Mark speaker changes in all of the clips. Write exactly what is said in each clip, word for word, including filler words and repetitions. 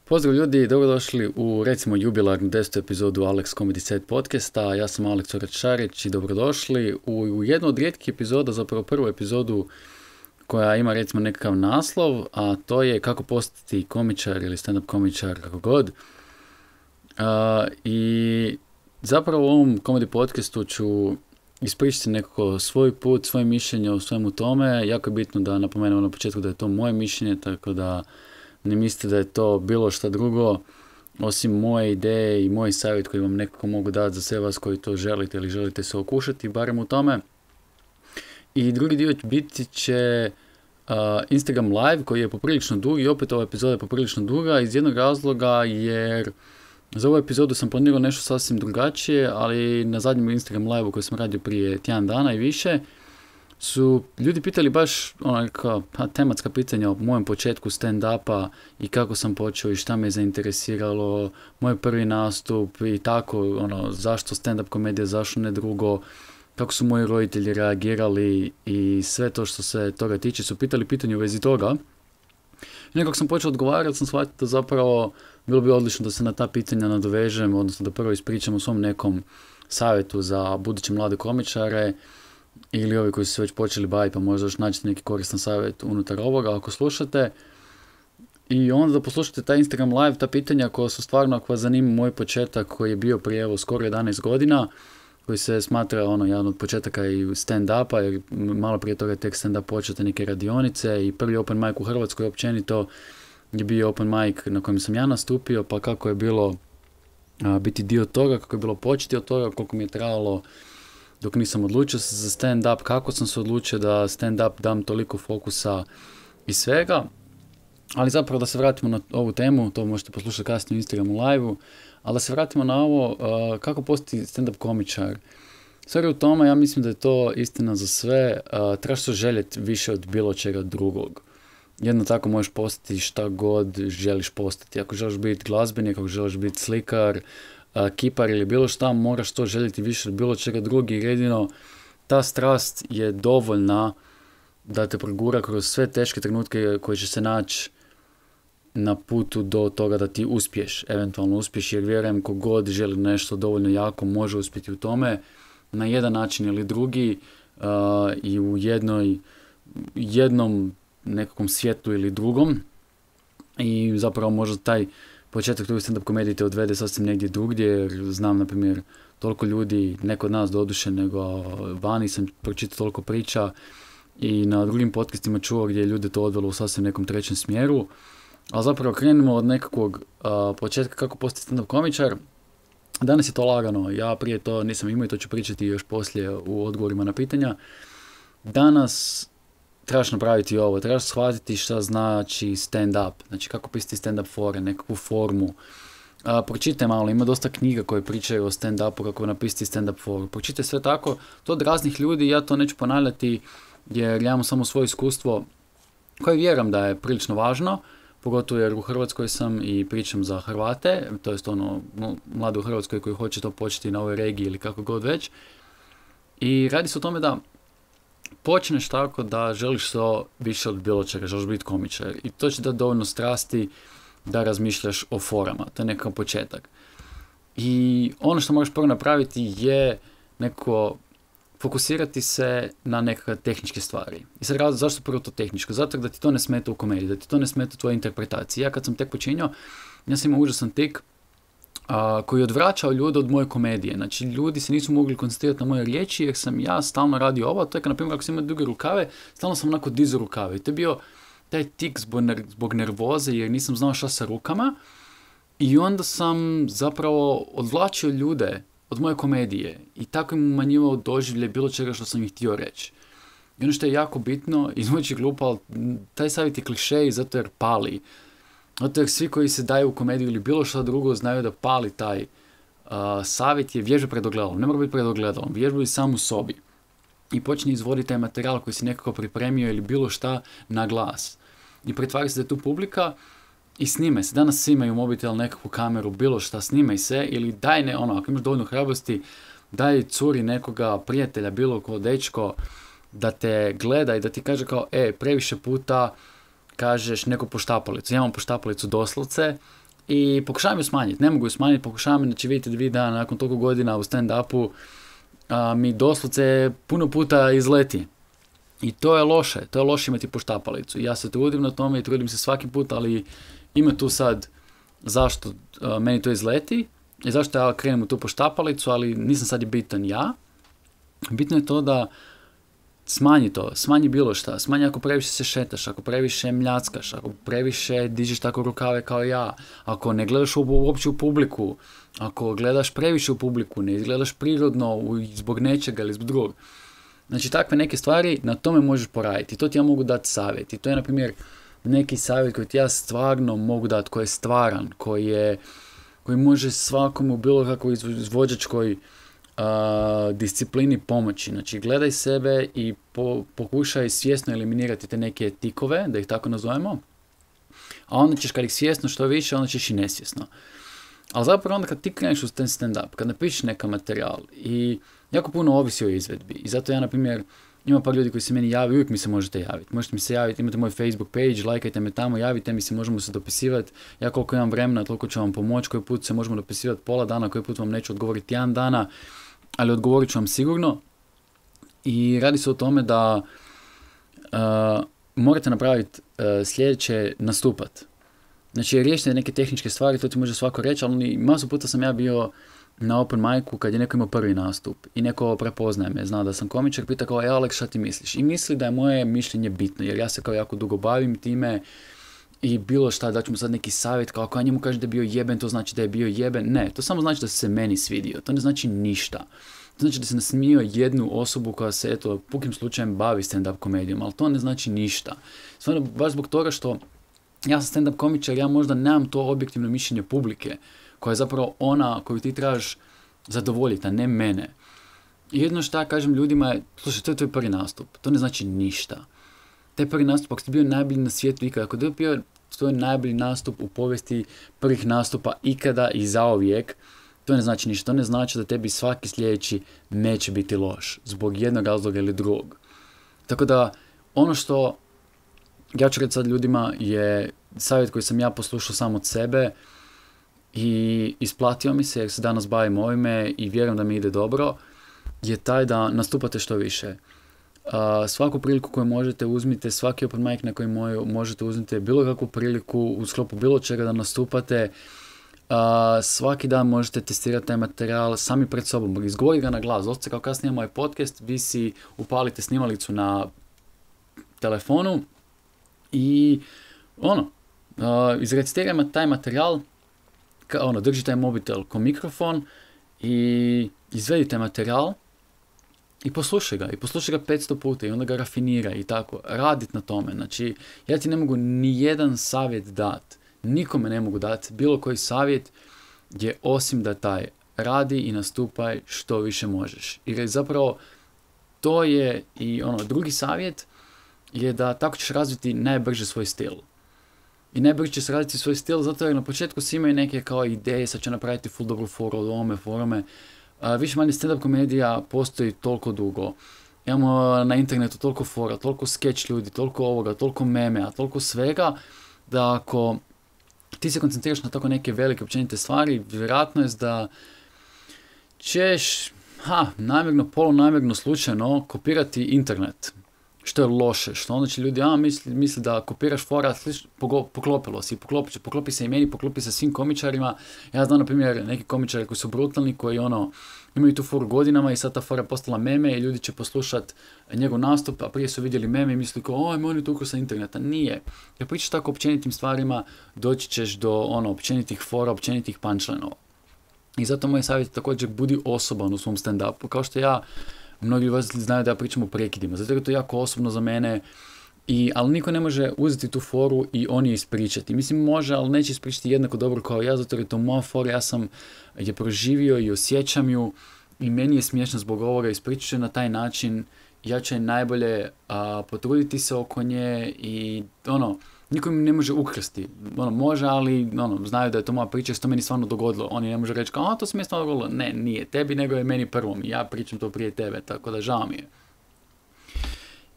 Speaker 1: Pozdrav ljudi, dobrodošli u recimo jubilarnu desetu epizodu Alex Comedy Set podcasta. Ja sam Alex Oračarić i dobrodošli u, u jednu od rijetkih epizoda, zapravo prvu epizodu koja ima recimo nekakav naslov, a to je kako postati komičar ili stand-up komičar, kako god. Uh, I zapravo u ovom comedy podcastu ću ispričati nekako svoj put, svoje mišljenje o svemu tome. Jako je bitno da napomenemo na početku da je to moje mišljenje, tako da ne mislite da je to bilo šta drugo, osim moje ideje i moj savjet koji vam nekako mogu dati za sve vas koji to želite ili želite se okušati, barem u tome. I drugi dio biti će uh, Instagram live koji je poprilično dug i opet ova epizoda je poprilično duga iz jednog razloga jer za ovu epizodu sam planirao nešto sasvim drugačije, ali na zadnjem Instagram live-u koji sam radio prije tjedan dana i više su ljudi pitali baš onaka pa, tematska pitanja o mojem početku stand-upa i kako sam počeo i šta me je zainteresiralo, moj prvi nastup i tako, ono, zašto stand-up komedija, zašto ne drugo, kako su moji roditelji reagirali i sve to što se toga tiče su pitali pitanje u vezi toga. I nekako sam počeo odgovarati, sam shvatio da zapravo bilo bi odlično da se na ta pitanja nadovežem, odnosno da prvo ispričam o svom nekom savjetu za buduće mlade komičare, ili ovi koji su se već počeli baviti, pa možda još nađete neki koristan savjet unutar ovoga ako slušate. I onda da poslušate taj Instagram live, ta pitanja koja su stvarno, ako vas zanima moj početak koji je bio prije evo skoro jedanaest godina, koji se smatra ono jedan od početaka i stand-upa, jer malo prije toga je tek stand-up počete neke radionice i prvi open mic u Hrvatskoj općenito je bio open mic na kojem sam ja nastupio, pa kako je bilo a, biti dio toga, kako je bilo početi od toga, koliko mi je trajalo dok nisam odlučio se za stand-up, kako sam se odlučio da stand-up dam toliko fokusa i svega. Ali zapravo da se vratimo na ovu temu, to možete poslušati kasnije u Instagramu live-u, ali da se vratimo na ovo uh, kako postati stand-up komičar. Sve u tome, ja mislim da je to istina za sve, uh, trebaš se željeti više od bilo čega drugog. Jedno tako možeš postati šta god želiš postati. Ako želiš biti glazbenik, ako želiš biti slikar, Uh, kipar ili bilo šta, moraš to željeti više od bilo čega drugi, jer jedino ta strast je dovoljna da te progura kroz sve teške trenutke koje će se naći na putu do toga da ti uspiješ, eventualno uspiješ, jer vjerujem kogod želi nešto dovoljno jako može uspjeti u tome na jedan način ili drugi uh, i u jednoj, jednom nekakvom svijetu ili drugom i zapravo možda taj početak tog stand-up komedije te odvede sasvim negdje drugdje, jer znam, na primjer, toliko ljudi, ne kod nas doduše, nego vani sam pročitao toliko priča i na drugim podcastima čuo gdje je ljude to odvelo u sasvim nekom trećem smjeru. Ali zapravo krenemo od nekakvog uh, početka kako postati stand-up komičar. Danas je to lagano, ja prije to nisam imao i to ću pričati još poslije u odgovorima na pitanja. Danas trebaš napraviti ovo, trebaš shvatiti šta znači stand-up, znači kako pisati stand-up fore, nekakvu formu. A, pročitaj malo, ima dosta knjiga koje pričaju o stand-upu, kako napisati stand-up foru. Pročitaj sve tako, to od raznih ljudi, ja to neću ponavljati jer ja imam samo svoje iskustvo koje vjerujem da je prilično važno, pogotovo jer u Hrvatskoj sam i pričam za Hrvate, to jest ono mlade u Hrvatskoj koji hoće to početi na ovoj regiji ili kako god već. I radi se o tome da počneš tako da želiš se više od bilo čega, želiš biti komičar i to će dati dovoljno strasti da razmišljaš o forama, to je nekakav početak. I ono što moraš prvo napraviti je nekako fokusirati se na nekakve tehničke stvari. I sad razlog zašto prvo to tehničko? Zato da ti to ne smeta u komediji, da ti to ne smeta u tvojoj interpretaciji. Ja kad sam tek počinio, ja sam imao užasan tik A, koji je odvraćao ljude od moje komedije. Znači, ljudi se nisu mogli koncentrirati na moje riječi jer sam ja stalno radio ovo. To je, na primjer, ako sam imao duge rukave, stalno sam onako dizao rukave. I to je bio taj tik zbog, ner- zbog nervoze jer nisam znao šta sa rukama. I onda sam zapravo odvlačio ljude od moje komedije. I tako im umanjivao doživlje bilo čega što sam ih htio reći. I ono što je jako bitno, izvući glupo, ali taj savjet je klišej zato jer pali. Zato jer svi koji se daju u komediju ili bilo što drugo znaju da pali taj uh, savjet je vježba pred ogledalom. Ne mora biti pred ogledalom, vježba sam u sobi. I počni izvoditi taj materijal koji si nekako pripremio ili bilo šta na glas. I pretvari se da je tu publika i snimaj se. Danas svi imaju mobitel, nekakvu kameru, bilo šta, snimaj se ili daj ne, ono, ako imaš dovoljno hrabrosti, daj curi nekoga, prijatelja, bilo ko, dečko, da te gleda i da ti kaže kao, e, previše puta kažeš neku poštapalicu. Ja imam poštapalicu doslovce, i pokušavam ju smanjiti, ne mogu ju smanjiti, pokušavam, znači vidite videa nakon toliko godina u stand-upu a, mi doslovce puno puta izleti. I to je loše, to je loše imati poštapalicu. Ja se trudim na tome i trudim se svaki put, ali ima tu sad zašto a, meni to izleti i zašto ja krenem u tu poštapalicu, ali nisam sad je bitan ja. Bitno je to da smanji to, smanji bilo šta, smanji ako previše se šetaš, ako previše mljackaš, ako previše dižeš tako rukave kao ja, ako ne gledaš uopće u publiku, ako gledaš previše u publiku, ne izgledaš prirodno zbog nečega ili zbog drugog. Znači takve neke stvari, na tome možeš poraditi. To ti ja mogu dati savjet. I to je, na primjer, neki savjet koji ti ja stvarno mogu dati, koji je stvaran, koji, je, koji može svakomu bilo kakvoj izvođačkoj Uh, disciplini pomoći. Znači, gledaj sebe i po, pokušaj svjesno eliminirati te neke tikove, da ih tako nazovemo, a onda ćeš, kad ih svjesno što više, onda ćeš i nesvjesno. Ali zapravo onda kad ti kreneš u stand-up, kad napišeš neka materijal i jako puno ovisi o izvedbi. I zato ja, na primjer, ima par ljudi koji se meni javi, uvijek mi se možete javiti. Možete mi se javiti, imate moj Facebook page, lajkajte me tamo, javite mi se, možemo se dopisivati. Ja koliko imam vremena, toliko ću vam pomoći, koji put se možemo dopisivati pola dana, koji put vam neću odgovoriti jedan dana, ali odgovorit ću vam sigurno. I radi se o tome da uh, morate napraviti uh, sljedeće, nastupat. Znači, riješite neke tehničke stvari, to ti može svako reći, ali masu puta sam ja bio na open micu kad je neko imao prvi nastup i neko prepoznaje me, zna da sam komičar, pita kao, e Alex, šta ti misliš? I misli da je moje mišljenje bitno, jer ja se kao jako dugo bavim time i bilo šta, da ću mu sad neki savjet, kao ako ja njemu kaže da je bio jeben, to znači da je bio jeben. Ne, to samo znači da se meni svidio, to ne znači ništa. To znači da se nasmijao jednu osobu koja se, eto, pukim slučajem bavi stand-up komedijom, ali to ne znači ništa. Stvarno, baš zbog toga što ja sam stand-up komičar, ja možda nemam to objektivno mišljenje publike, koja je zapravo ona koju ti trebaš zadovoljiti, a ne mene. I jedno što ja kažem ljudima je, slušaj, to je tvoj prvi nastup, to ne znači ništa. Taj prvi nastup, ako ste bio najbolji na svijetu ikada, ako je bio tvoj najbolji nastup u povijesti prvih nastupa ikada i zauvijek, to ne znači ništa. To ne znači da tebi svaki sljedeći neće biti loš, zbog jednog razloga ili drugog. Tako da, ono što ja ću reći sad ljudima je savjet koji sam ja poslušao sam od sebe i isplatio mi se jer se danas bavim ovime i vjerujem da mi ide dobro, je taj da nastupate što više. Uh, svaku priliku koju možete uzmite, svaki open mic na koji moj, možete uzmite bilo kakvu priliku u sklopu bilo čega da nastupate, uh, svaki dan možete testirati taj materijal sami pred sobom, izgovoriti ga na glas. Doslovce kao kasnije moj podcast, vi si upalite snimalicu na telefonu i ono, uh, izrecitirajte taj materijal, ka, ono, držite taj mobitel ko mikrofon i izvedite materijal i poslušaj ga, i poslušaj ga petsto puta i onda ga rafiniraj i tako, radit na tome. Znači, ja ti ne mogu ni jedan savjet dat, nikome ne mogu dati bilo koji savjet je osim da taj radi i nastupaj što više možeš. Jer zapravo to je i ono, drugi savjet je da tako ćeš razviti najbrže svoj stil. I najbrže ćeš razviti svoj stil zato jer na početku svi imaju neke kao ideje, sad će napraviti full dobru foru od ovome, forome. Uh, više manje stand-up komedija postoji toliko dugo. Imamo na internetu toliko fora, toliko sketch ljudi, toliko ovoga, toliko memea, toliko svega, da ako ti se koncentriraš na tako neke velike općenite stvari, vjerojatno je da ćeš, ha, namjerno, polunamjerno, slučajno kopirati internet. Što je loše, što onda će ljudi, a, misli, misli da kopiraš fora, sliš, poklopilo si, poklopi, poklopi se i meni, poklopi se svim komičarima. Ja znam, na primjer, neki komičari koji su brutalni, koji ono, imaju tu foru godinama i sad ta fora je postala meme i ljudi će poslušati njegov nastup, a prije su vidjeli meme i misli kao, oj, on je to ukrao sa interneta. Nije. Jer pričaš tako općenitim stvarima, doći ćeš do ono, općenitih fora, općenitih punchlinova. I zato moj savjet je također budi osoban u svom stand-upu. Kao što ja, mnogi vas znaju da ja pričam o prekidima, zato je to jako osobno za mene, i, ali niko ne može uzeti tu foru i on je ispričati. Mislim, može, ali neće ispričati jednako dobro kao ja, zato je to moja fora, ja sam je proživio i osjećam ju i meni je smiješno zbog ovoga, ispričat ću na taj način, ja ću najbolje a, potruditi se oko nje i ono, niko mi ne može ukrasti. Ono, može, ali ono, znaju da je to moja priča, što to meni stvarno dogodilo. Oni ne može reći kao, a to se mi je stvarno dogodilo. Ne, nije tebi, nego je meni prvom. Ja pričam to prije tebe, tako da žao mi je.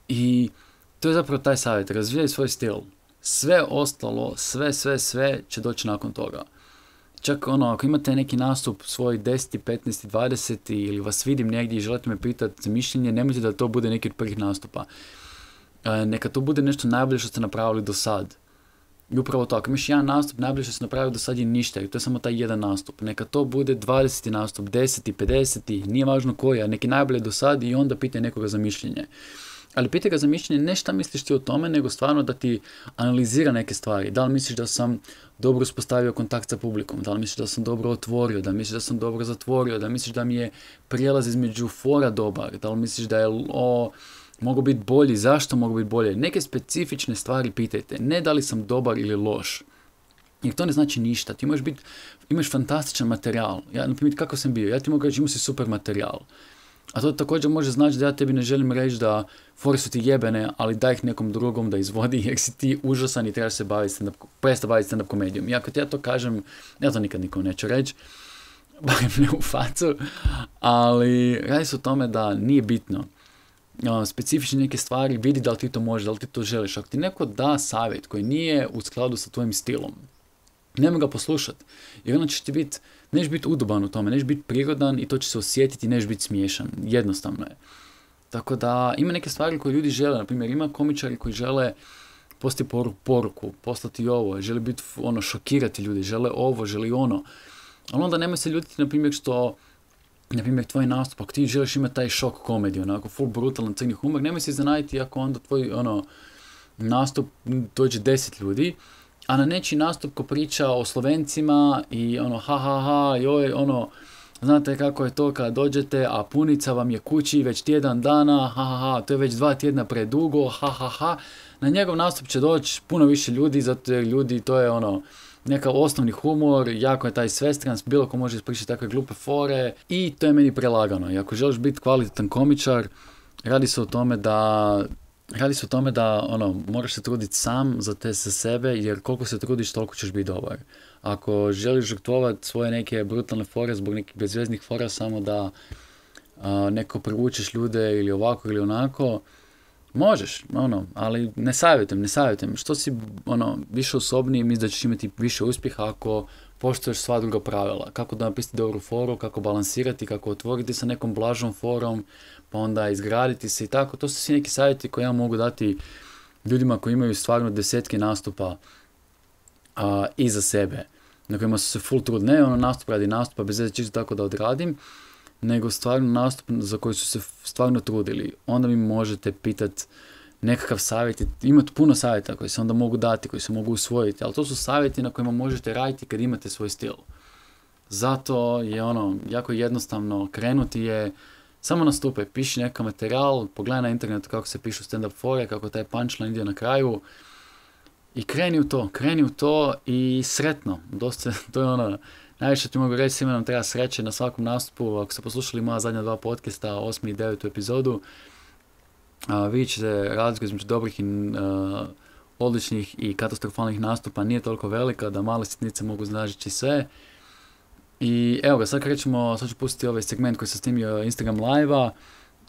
Speaker 1: I to je zapravo taj savjet. Razvijaj svoj stil. Sve ostalo, sve, sve, sve će doći nakon toga. Čak ono, ako imate neki nastup svoj deset, petnaest, dvadeset ili vas vidim negdje i želite me pitati za mišljenje, nemojte da to bude neki od prvih nastupa. E, neka to bude nešto najbolje što ste napravili do sad. I upravo to, ako imaš jedan nastup, najbolje što ste napravili do sad je ništa, i to je samo taj jedan nastup. Neka to bude dvadeseti nastup, deseti, pedeseti, nije važno koji, a neki najbolje do sad i onda pitaj nekoga za mišljenje. Ali pitaj ga za mišljenje ne šta misliš ti o tome, nego stvarno da ti analizira neke stvari. Da li misliš da sam dobro uspostavio kontakt sa publikom, da li misliš da sam dobro otvorio, da li misliš da sam dobro zatvorio, da li misliš da mi je prijelaz između fora dobar, da li misliš da je o, mogu biti bolji, zašto mogu biti bolje. Neke specifične stvari pitajte, ne da li sam dobar ili loš. Jer to ne znači ništa, ti možeš biti, imaš fantastičan materijal. Ja, na primjer, kako sam bio, ja ti mogu reći, imao si super materijal. A to također može znači da ja tebi ne želim reći da fore su ti jebene, ali daj ih nekom drugom da izvodi jer si ti užasan i trebaš se baviti stand-up, prestati baviti stand-up komedijom. I ako ti ja to kažem, ja to nikad nikom neću reći, barem ne u facu, ali radi se o tome da nije bitno. Specifične neke stvari, vidi da li ti to možeš, da li ti to želiš. Ako ti neko da savjet koji nije u skladu sa tvojim stilom, nemoj ga poslušati, jer onda ćeš ti biti, neš biti udoban u tome, neš biti prirodan i to će se osjetiti, neš biti smiješan. Jednostavno je. Tako da ima neke stvari koje ljudi žele, na primjer ima komičari koji žele poslati poruku, poslati ovo, žele biti ono, šokirati ljudi, žele ovo, žele ono. Ali onda nemoj se ljutiti, na primjer, što, na primjer, tvoj nastup, ako ti želiš imati taj šok komediju, onako full brutalan crni humor, nemoj se iznenaditi ako onda tvoj ono, nastup dođe deset ljudi, a na nečiji nastup ko priča o Slovencima i ono ha ha ha, joj, ono, znate kako je to kad dođete, a punica vam je kući već tjedan dana, ha ha ha, to je već dva tjedna predugo, ha ha ha. Na njegov nastup će doći puno više ljudi, zato jer ljudi, to je ono, neka osnovni humor, jako je taj svestrans, bilo ko može ispričati takve glupe fore i to je meni prelagano. I ako želiš biti kvalitetan komičar, radi se o tome da Radi se o tome da ono, moraš se truditi sam za te za sebe, jer koliko se trudiš, toliko ćeš biti dobar. Ako želiš žrtvovati svoje neke brutalne fore zbog nekih bezveznih fora samo da a, neko privučeš ljude ili ovako ili onako, možeš, ono, ali ne savjetujem, ne savjetujem. Što si ono, više osobniji, misliš da ćeš imati više uspjeha ako poštuješ sva druga pravila. Kako da napisati dobru foru, kako balansirati, kako otvoriti sa nekom blažom forom, pa onda izgraditi se i tako. To su svi neki savjeti koje ja mogu dati ljudima koji imaju stvarno desetke nastupa a, iza sebe, na kojima su se full trud. Ne ono nastup radi nastupa, bez veze čisto tako da odradim, nego stvarno nastup za koji su se stvarno trudili. Onda mi možete pitati nekakav savjet, imate puno savjeta koji se onda mogu dati, koji se mogu usvojiti, ali to su savjeti na kojima možete raditi kad imate svoj stil. Zato je ono, jako jednostavno krenuti je, samo nastupaj, piši nekakav materijal, pogledaj na internetu kako se pišu stand-up fore, kako taj punchline ide na kraju i kreni u to, kreni u to i sretno. Dosta, to je ono, najviše ti mogu reći, svima nam treba sreće na svakom nastupu. Ako ste poslušali moja zadnja dva podcasta, osmi i devetu epizodu, Uh, vidjet ćete razliku između dobrih i uh, odličnih i katastrofalnih nastupa nije toliko velika da male sitnice mogu značići sve. I evo ga, sad krećemo, sad ću pustiti ovaj segment koji sam snimio Instagram live-a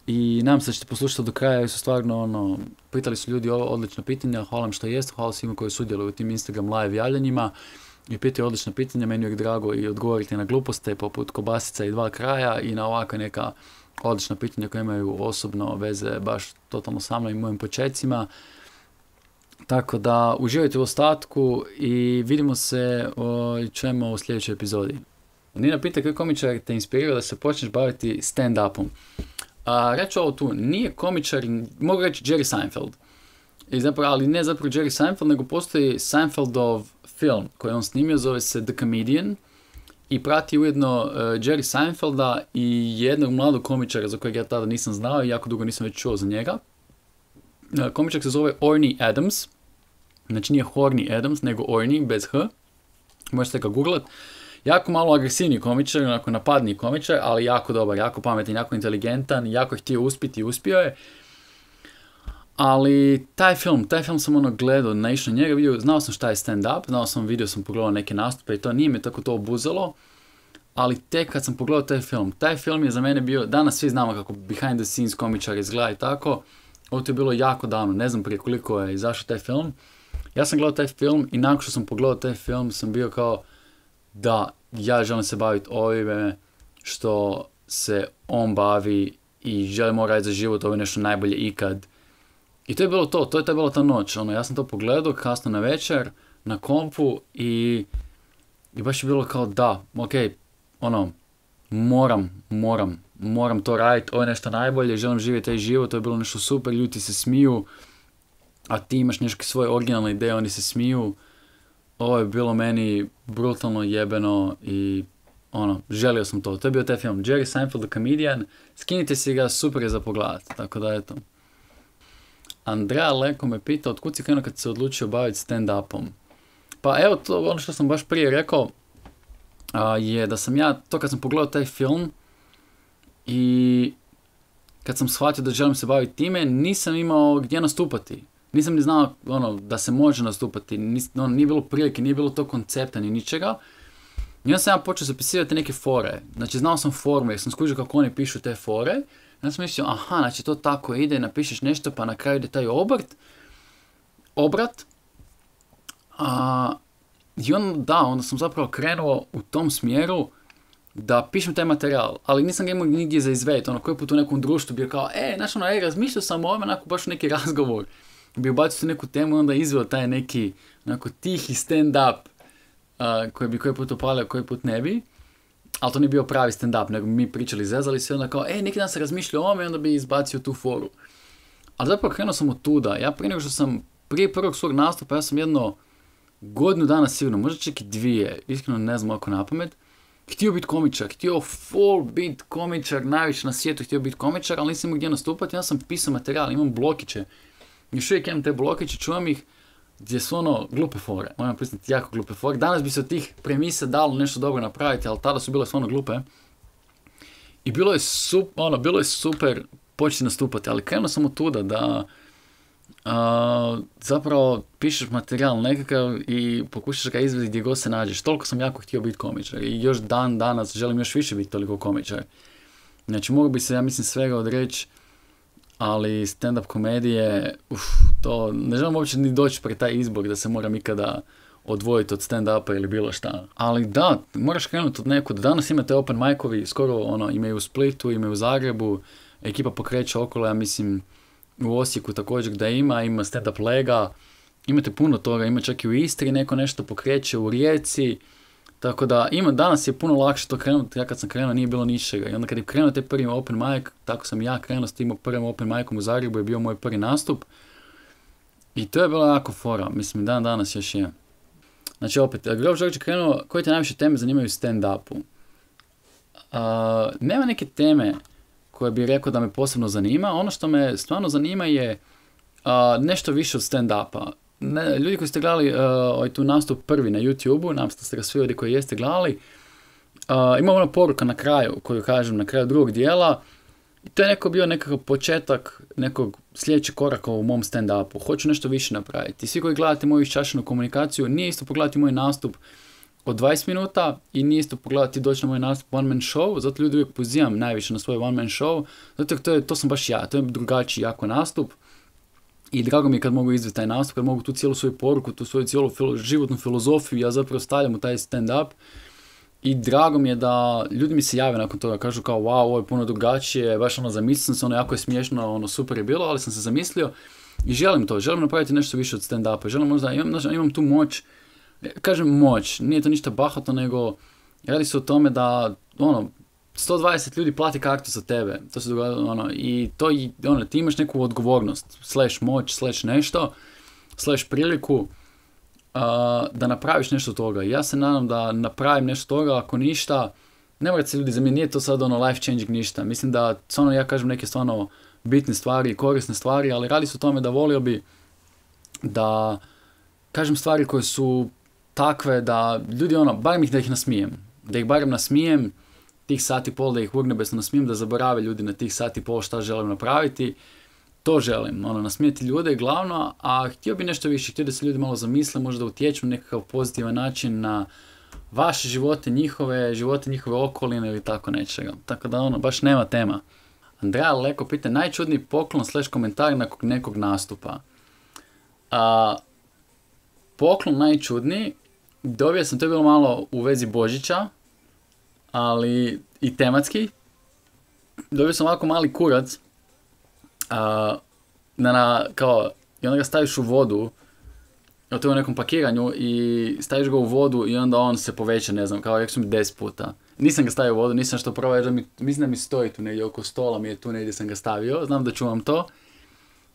Speaker 1: i nadam se da ćete poslušati do kraja jer su stvarno ono, pitali su ljudi ovo odlična pitanja, hvala im što jeste, hvala svima koji sudjeluju u tim Instagram live javljanjima i pitaju odlična pitanja, meni je drago i odgovoriti na gluposte poput kobasica i dva kraja i na ovakva neka odlična pitanja koja imaju osobno veze baš totalno sa mnom i mojim početcima. Tako da uživajte u ostatku i vidimo se i čujemo u sljedećoj epizodi. Nina pita koji komičar te inspirira da se počneš baviti stand-upom. A, reću ovo tu, nije komičar, mogu reći Jerry Seinfeld. I zapravo, ali ne zapravo Jerry Seinfeld, nego postoji Seinfeldov film koji on snimio, zove se The Comedian. I prati ujedno uh, Jerry Seinfelda i jednog mladog komičara za kojeg ja tada nisam znao i jako dugo nisam već čuo za njega. Uh, komičar se zove Orny Adams. Znači nije Horny Adams, nego Orny, bez H. Možete ga googlat. Jako malo agresivni komičar, onako napadni komičar, ali jako dobar, jako pametan, jako inteligentan, jako je htio uspjeti i uspio je. Ali taj film, taj film sam ono gledao, naišao na njega, vidio, znao sam šta je stand-up, znao sam, vidio sam, pogledao neke nastupe i to nije me tako to obuzelo, ali tek kad sam pogledao taj film, taj film je za mene bio, danas svi znamo kako behind the scenes komičar izgleda i tako, ovo to je bilo jako davno, ne znam prije koliko je izašao taj film, Ja sam gledao taj film i nakon što sam pogledao taj film sam bio kao da ja želim se baviti ovime što se on bavi i želim raditi za život, ovo je nešto najbolje ikad. I to je bilo to, to je to bila ta noć. Ono, ja sam to pogledao kasno na večer, na kompu i, i baš je bilo kao da, ok, ono, moram, moram, moram to raditi, ovo je nešto najbolje, želim živjeti taj život, to je bilo nešto super, ljudi se smiju, a ti imaš neke svoje originalne ideje, oni se smiju. Ovo je bilo meni brutalno jebeno i ono, želio sam to. To je bio taj film, Jerry Seinfeld the Comedian, skinite si ga, super je za pogledat, tako da eto. Andrea Leko me pita otkud si krenuo kad se odlučio baviti stand-upom. Pa evo, to ono što sam baš prije rekao a, je da sam ja, to kad sam pogledao taj film i kad sam shvatio da želim se baviti time, nisam imao gdje nastupati. Nisam ni znao ono, da se može nastupati, nis, ono, nije bilo prilike, nije bilo to koncepta ni ničega. I onda sam ja počeo zapisivati neke fore. Znači znao sam forme jer sam skužio kako oni pišu te fore. I onda sam mislio, aha, znači to tako ide, napišeš nešto pa na kraju ide taj obrt, obrat. A, I onda da, onda sam zapravo krenuo u tom smjeru da pišem taj materijal, ali nisam ga imao nigdje za izvediti. Ono, koji put u nekom društvu bio kao, e, znaš ono, e, razmišljao sam o ovome, onako baš neki razgovor. Bi ubacio neku temu i onda izveo taj neki, onako, tihi stand-up uh, koji bi koji put upalio, koji put ne bi. Ali to nije bio pravi stand-up, nego mi pričali, zezali se, onda kao, e, neki dan se razmišljao o ovome i onda bi izbacio tu foru. Ali zapravo krenuo sam od tuda. Ja prije nego što sam, prije prvog svog nastupa, ja sam jedno godinu dana sigurno, možda čak i dvije, iskreno ne znam ako napamet, htio biti komičar, htio full biti komičar, najviše na svijetu htio biti komičar, ali nisam imao gdje nastupati, ja sam pisao materijal, imam blokiće. Još uvijek imam te blokiće, čuvam ih, gdje su ono glupe fore, moram priznati jako glupe fore. Danas bi se od tih premisa dalo nešto dobro napraviti, ali tada su bile stvarno glupe. I bilo je, sup, ono, bilo je super početi nastupati, ali krenuo sam od tuda da uh, zapravo pišeš materijal nekakav i pokušaš ga izvesti gdje god se nađeš. Toliko sam jako htio biti komičar i još dan danas želim još više biti toliko komičar. Znači mogu bi se, ja mislim, svega odreći, ali stand-up komedije, uf, to ne želim uopće ni doći pred taj izbor da se moram ikada odvojiti od stand-upa ili bilo šta. Ali da, moraš krenuti od nekud. Danas imate open mic-ovi, skoro ono, imaju u Splitu, imaju u Zagrebu, ekipa pokreće okolo, ja mislim u Osijeku također da ima, ima stand-up lega, imate puno toga, ima čak i u Istri neko nešto pokreće, u Rijeci, tako da ima, danas je puno lakše to krenuti, ja kad sam krenuo nije bilo ničega i onda kad je krenuo taj prvi open mic, tako sam ja krenuo s tim prvim open micom u Zagrebu, je bio moj prvi nastup i to je bilo jako fora, mislim dan danas još je. Znači opet, Grof Đorđe je krenuo, koje te najviše teme zanimaju u stand-upu? Uh, nema neke teme koje bih rekao da me posebno zanima, ono što me stvarno zanima je uh, nešto više od stand-upa. Ne, ljudi koji ste gledali uh, ovaj tu nastup prvi na YouTube-u, nam ste ga svi ovdje koji jeste gledali, uh, ima ona poruka na kraju, koju kažem na kraju drugog dijela, i to je neko bio nekakav početak nekog sljedećeg koraka u mom stand-upu. Hoću nešto više napraviti. Svi koji gledate moju iščašenu komunikaciju, nije isto pogledati moj nastup od dvadeset minuta i nije isto pogledati doći na moj nastup one man show, zato ljudi uvijek pozivam najviše na svoj one man show, zato to, je, to sam baš ja, to je drugačiji jako nastup. I drago mi je kad mogu izvesti taj nastup, kad mogu tu cijelu svoju poruku, tu svoju cijelu filo, životnu filozofiju, ja zapravo stavljam u taj stand-up. I drago mi je da ljudi mi se jave nakon toga, kažu kao wow, ovo je puno drugačije, baš ono zamislio sam se, ono jako je smiješno, ono super je bilo, ali sam se zamislio i želim to, želim napraviti nešto više od stand-upa, želim možda, imam, imam tu moć, kažem moć, nije to ništa bahato, nego radi se o tome da ono, sto dvadeset ljudi plati kartu za tebe, to se događa, ono, i to, ono, ti imaš neku odgovornost, slash moć, slash nešto, slash priliku, uh, da napraviš nešto toga. Ja se nadam da napravim nešto toga, ako ništa, ne morate se ljudi, za mene nije to sad ono life changing ništa, mislim da, stvarno, ja kažem neke stvarno bitne stvari, korisne stvari, ali radi se o tome da volio bi da kažem stvari koje su takve da ljudi, ono, barem ih da ih nasmijem, da ih barem nasmijem, tih sati pol da ih urnebesno nasmijem, da zaborave ljudi na tih sati pol šta želim napraviti, to želim, ono, nasmijeti ljude glavno, a htio bi nešto više, htio da se ljudi malo zamisle, možda utječu na nekakav pozitivan način na vaše živote, njihove, živote njihove okoline ili tako nečega, tako da ono, baš nema tema. Andrea Leko pita, najčudniji poklon slash komentar nakon nekog nastupa. A, poklon najčudniji, dobio sam, to je bilo malo u vezi Božića, ali i tematski. Dobio sam ovako mali kurac, a, na, na, kao, i onda ga staviš u vodu, to je u nekom pakiranju, i staviš ga u vodu i onda on se poveća, ne znam, kao rekao sam mi deset puta. Nisam ga stavio u vodu, nisam što probao, jer mi, mislim da mi stoji tu negdje oko stola, mi je tu negdje sam ga stavio, znam da čuvam to.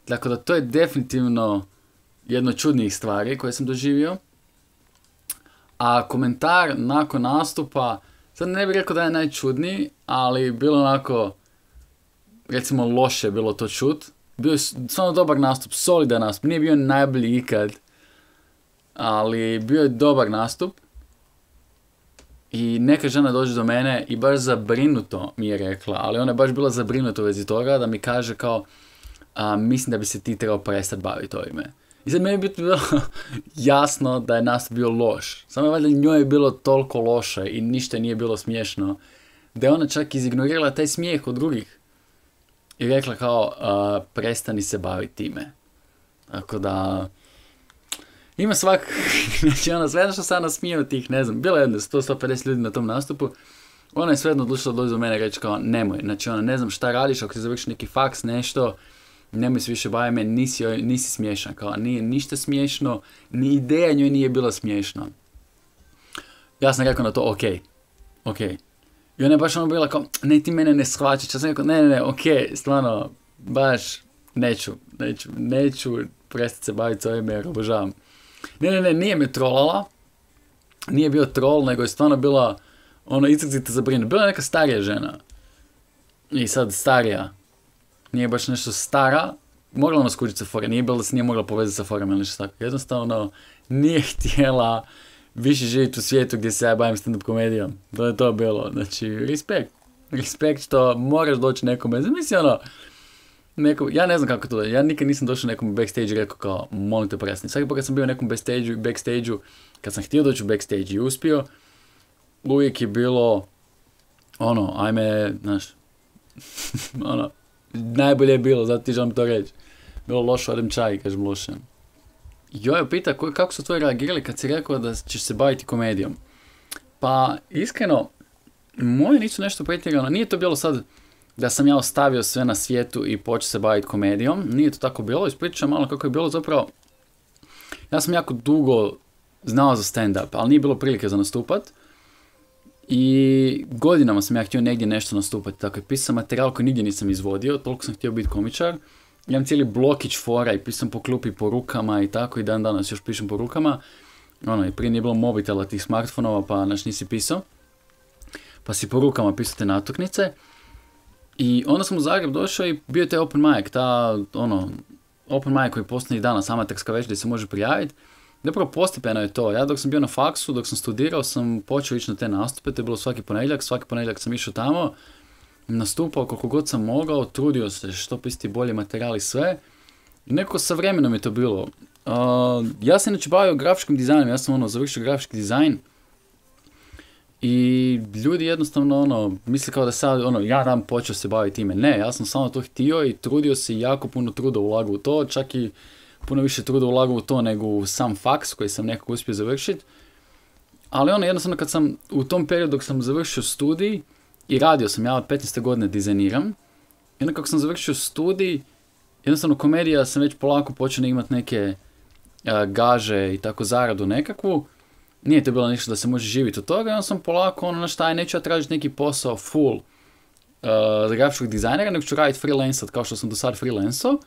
Speaker 1: Tako da to je definitivno jedno od čudnijih stvari koje sam doživio. A komentar nakon nastupa, sad ne bih rekao da je najčudniji, ali bilo onako, recimo loše je bilo to čut. Bio je stvarno dobar nastup, solidan nastup, nije bio najbolji ikad, ali bio je dobar nastup. I neka žena dođe do mene i baš zabrinuto mi je rekla, ali ona je baš bila zabrinuta u vezi toga, da mi kaže kao, a, mislim da bi se ti trebao prestati baviti ovime. I sad meni je bilo jasno da je nastup bio loš. Samo valjda njoj je bilo toliko loše i ništa nije bilo smiješno, da je ona čak izignorirala taj smijeh od drugih. I rekla kao, a, prestani se baviti time. Tako da, ima svak, znači ona sve što sam nasmijao tih, ne znam, bilo je jedno sto do sto pedeset ljudi na tom nastupu, ona je svejedno odlučila doći do mene i reći kao, nemoj, znači ona, ne znam šta radiš, ako ti završi neki faks, nešto, nemoj se više baviti me, nisi, nisi smiješan, kao, nije ništa smiješno, ni ideja njoj nije bila smiješna. Ja sam rekao na to, okej, okej. I ona je baš ono bila kao, ne, ti mene ne shvaćaš, ja sam rekao, ne, ne, ne, okej, stvarno, baš, neću, neću, neću prestati se baviti s ovime jer obožavam. Ne, ne, ne, nije me trolala, nije bio troll, nego je stvarno bila, ono, izrazito zabrinuta. Bila je neka starija žena. I sad starija, nije baš nešto stara, mogla ona skužiti sa fora, nije bilo da se nije mogla povezati sa forom ili nešto tako. Jednostavno, nije htjela više živjeti u svijetu gdje se ja bavim stand-up komedijom. To je to bilo, znači, respekt. Respekt što moraš doći nekome, zamisli ono, neko, ja ne znam kako to da, ja nikad nisam došao nekom u backstage i rekao kao, molim te prestani. Svaki put kad sam bio u nekom backstage-u, backstage-u, kad sam htio doći u backstage i uspio, uvijek je bilo, ono, ajme, znaš, ono, najbolje je bilo, zato ti želim to reći. Bilo loše, odem čaj, kažem loše. Jojo pita, kako su tvoji reagirali kad si rekao da ćeš se baviti komedijom? Pa, iskreno, moje nisu nešto pretjerano, nije to bilo sad da sam ja ostavio sve na svijetu i počeo se baviti komedijom. Nije to tako bilo. Ispričam malo kako je bilo zapravo. Ja sam jako dugo znao za stand-up, ali nije bilo prilike za nastupat. I godinama sam ja htio negdje nešto nastupati. Tako je pisao materijal koji nigdje nisam izvodio, toliko sam htio biti komičar. Imam cijeli blokić fora i pisam po klupi po rukama i tako, i dan danas još pišem po rukama. Ono, i prije nije bilo mobitela, tih smartfonova, pa naš nisi pisao. Pa si po rukama pisao te natuknice. I onda sam u Zagreb došao i bio je taj open mic, ta, ono, open mic koji postoji danas, amaterska večer gdje se može prijaviti. Zapravo postepeno je to. Ja dok sam bio na faksu, dok sam studirao, sam počeo ići na te nastupe, to je bilo svaki ponedjeljak, svaki ponedjeljak sam išao tamo, nastupao koliko god sam mogao, trudio se što pisati bolje materijali, sve. I nekako sa vremenom je to bilo. Uh, ja sam inače bavio grafičkim dizajnom, ja sam ono, završio grafički dizajn. I ljudi jednostavno ono, misle kao da sad ono, ja dam počeo se baviti time. Ne, ja sam samo to htio i trudio se i jako puno truda ulagao u to, čak i puno više truda ulagao u to nego u sam faks koji sam nekako uspio završiti. Ali ono, jednostavno kad sam u tom periodu dok sam završio studij i radio sam, ja od petnaeste godine dizajniram, i onda kako sam završio studij, jednostavno komedija sam već polako počeo imati neke uh, gaže i tako zaradu nekakvu. Nije to bilo ništa da se može živjeti od toga, i onda sam polako, ono, na šta je, neću ja tražiti neki posao full uh, za grafičkog dizajnera, nego ću raditi freelancat kao što sam do sad freelancao.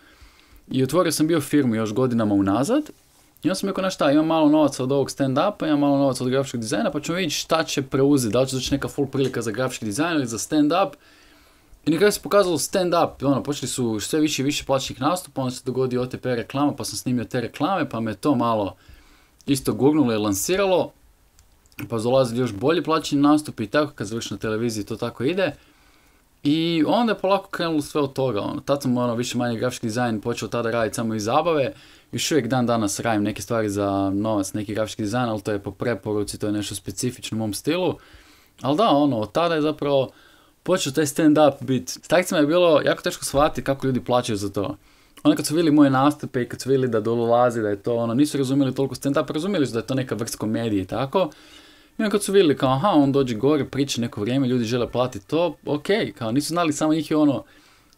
Speaker 1: I otvorio sam bio firmu još godinama unazad. I onda sam rekao, na šta, imam malo novaca od ovog stand-upa, imam malo novaca od grafičkog dizajna, pa ćemo vidjeti šta će preuzeti, da li će doći neka full prilika za grafički dizajn ili za stand-up. I na kraju se pokazalo stand-up, ono, počeli su sve više i više plaćenih nastupa, onda se dogodio O T P reklama, pa sam snimio te reklame, pa me to malo isto gurnulo i lansiralo, pa dolazili još bolji plaćeni nastupi i tako, kad završi na televiziji to tako ide. I onda je polako krenulo sve od toga, ono, tad sam ono, više manje grafički dizajn počeo tada raditi samo iz zabave, još uvijek dan danas radim neke stvari za novac, neki grafički dizajn, ali to je po preporuci, to je nešto specifično u mom stilu. Ali da, ono, od tada je zapravo počeo taj stand-up biti. S takcima je bilo jako teško shvatiti kako ljudi plaćaju za to. onda kad su vidjeli moje nastupe i kad su vidjeli da dolazi, da je to ono, nisu razumjeli toliko stand-up, razumjeli su da je to neka vrst komedije i tako. I onda kad su vidjeli kao, aha, on dođe gore, priča neko vrijeme, ljudi žele platiti to, ok, kao nisu znali, samo njih je ono,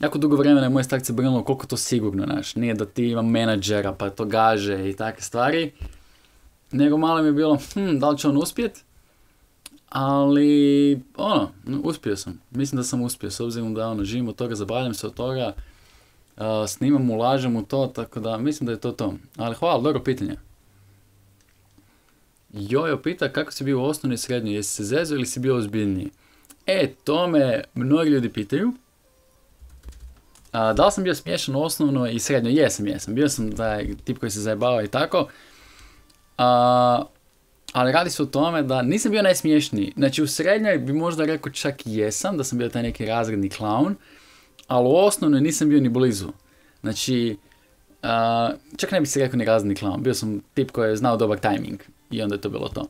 Speaker 1: jako dugo vremena je moje starce brinulo koliko to sigurno, znaš, nije da ti ima menadžera pa to gaže i takve stvari, nego malo mi je bilo, hm, da li će on uspjet? Ali, ono, uspio sam, mislim da sam uspio, s obzirom da ono, živim od toga, zabavljam se od toga, uh, snimam, ulažem u to, tako da mislim da je to to. Ali hvala, dobro pitanje. Jojo pita kako si bio u osnovnoj i srednjoj, jesi se zezao ili si bio ozbiljniji? E, to me mnogi ljudi pitaju. A, da li sam bio smiješan u osnovnoj i srednjoj? Jesam, jesam. Bio sam taj tip koji se zajebava i tako. A, ali radi se o tome da nisam bio najsmiješniji. Znači u srednjoj bi možda rekao čak i jesam, da sam bio taj neki razredni klaun, ali u osnovnoj nisam bio ni blizu. Znači, a, čak ne bi se rekao ni razredni klaun. Bio sam tip koji je znao dobar tajming. I onda je to bilo to.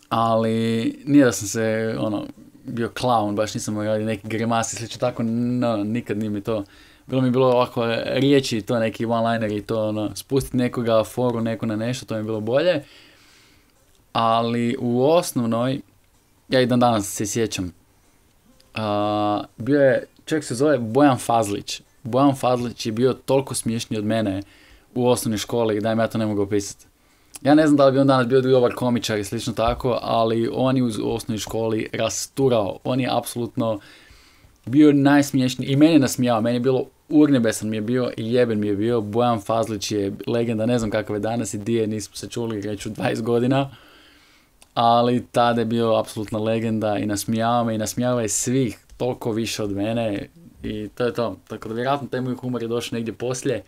Speaker 1: Ali nije da sam se, ono, bio klaun, baš nisam radio neki grimasi, slično tako, no, nikad nije mi to. Bilo mi je bilo ovako riječi, to neki one-liner i to, ono, spustiti nekoga, foru, neko na nešto, to mi je bilo bolje. Ali u osnovnoj, ja i dan danas se sjećam, uh, bio je, čovjek se zove Bojan Fazlić. Bojan Fazlić je bio toliko smiješni od mene u osnovnoj školi da im ja to ne mogu opisati. Ja ne znam da li bi on danas bio dobar komičar i slično tako, ali on je u osnovnoj školi rasturao. On je apsolutno bio najsmiješniji i meni je nasmijao. Meni je bilo urnjebesan mi je bio i jeben mi je bio. Bojan Fazlić je legenda, ne znam kakav je danas i di je, nismo se čuli reću dvadeset godina. Ali tada je bio apsolutna legenda i nasmijao me i nasmijao je svih toliko više od mene. I to je to. Tako da vjerojatno taj moj humor je došao negdje poslije.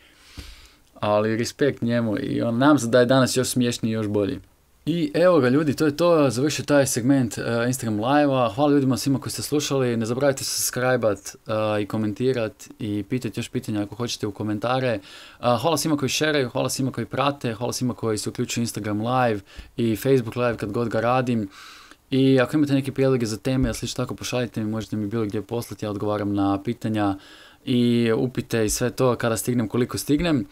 Speaker 1: Ali respekt njemu i on nam se da je danas još smješniji i još bolji. I evo ga ljudi, to je to, završio taj segment uh, Instagram live-a. Hvala ljudima svima koji ste slušali, ne zaboravite se subscribe-at uh, i komentirat i pitati još pitanja ako hoćete u komentare. Uh, hvala svima koji šeraju, hvala svima koji prate, hvala svima koji se uključuju Instagram live i Facebook live kad god ga radim. I ako imate neke prijedloge za teme, ili slično tako, pošaljite mi, možete mi bilo gdje poslati, ja odgovaram na pitanja i upite i sve to kada stignem, koliko stignem.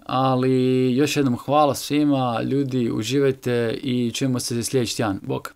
Speaker 1: Ali još jednom hvala svima, ljudi, uživajte i čujemo se sljedeći tjedan. Bok!